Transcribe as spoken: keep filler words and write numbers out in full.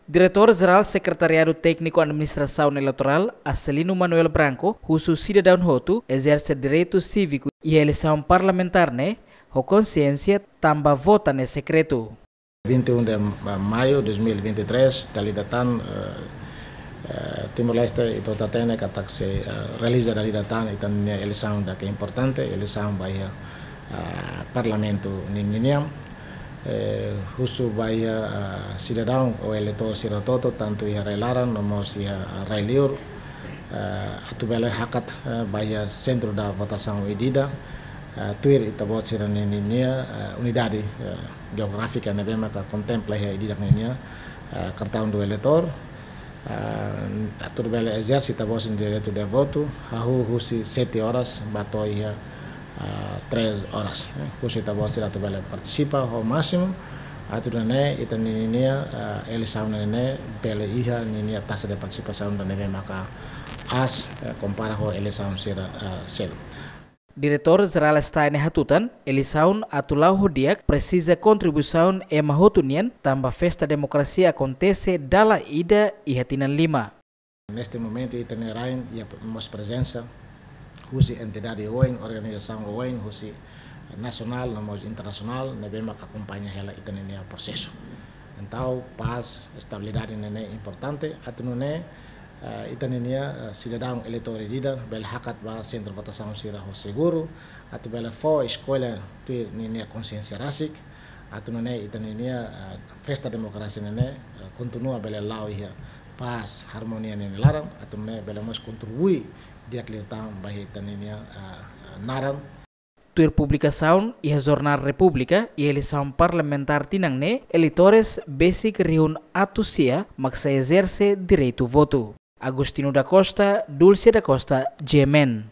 Diretór Jerál Sekretariadu Tékniku Administrasaun Eleitorál, Acelino Manuel Branco, husu sidadaun hotu ezerse direitu síviku iha eleisaun parlamentár ne'e ho konsiénsia, tanba vota ne'e sekretu. Vinte e um de maio de dois mil e vinte e três, dala ida tan, eh, eh, Timor-Leste ita hotu hatene katak sei, eh, realiza dala ida tan ita-nia eleisaun ida ke importante, eleisaun ba iha, ah, Parlamentu ni-, ninian. Eh, husu ba iha, ah, sidadaun ou eleitór sira hotu, tantu iha rai-laran no mós iha, ah, rai-liur, eh, atu bele hakat, eh, ba iha sentru da votasaun ida-idak, eh, tuir ita-boot sira-nia, nia, eh, unidade, eh, jeográfika ne'ebé maka kontempla iha ida-idak ninia, eh, cartão do eleitor. Eh, atu bele ezerse ita-boot sira-nia direitu de votu, hahú husi sete horas ba to'o iha, eh, três horas. Eh, husu ita-boot sira atu bele partisipa ho másimu, atu nune'e ita-nia, eh, eleisaun ne'e bele iha ninia taxa de partisipasaun ida ne'ebé maka aas, eh, kompara ho eleisaun sira, eh, seluk. Diretór Jerál STAE ne'e hatutan, eleisaun atu la'o ho di'ak presiza kontribuisaun ema hotu nian, tanba festa demokrasia akontese dala ida iha tinan lima. Neste momento, ita-nia rain iha mós prezensa husi entidade oin, organizasaun oin, husi nasionál no mós internasionál, ne'ebé maka akompaña hela ita-nia prosesu. Entaun, pás, estabilidade ne'e importante, atu nune'e, eh, ita-nia, eh, sidadaun eleitór ida-idak bele hakat ba sentru votasaun sira ho seguru, atu bele fó eskolla tuir ninia konsiénsia rasik, atu nune'e ita-nia, eh, festa demokrasia ne'e, eh, kontinua bele la'o iha pás, harmonia nia laran, atu nune'e bele mós kontribui di'ak liután ba iha ita-nia, eh, naran. Tuir publikasaun iha Jornál Repúblika, iha eleisaun parlamentár tinan ne'e, eleitór besik rihun atus sia mak sei ezerse direitu votu. Agostinho da Costa, Dulce da Costa, G M N.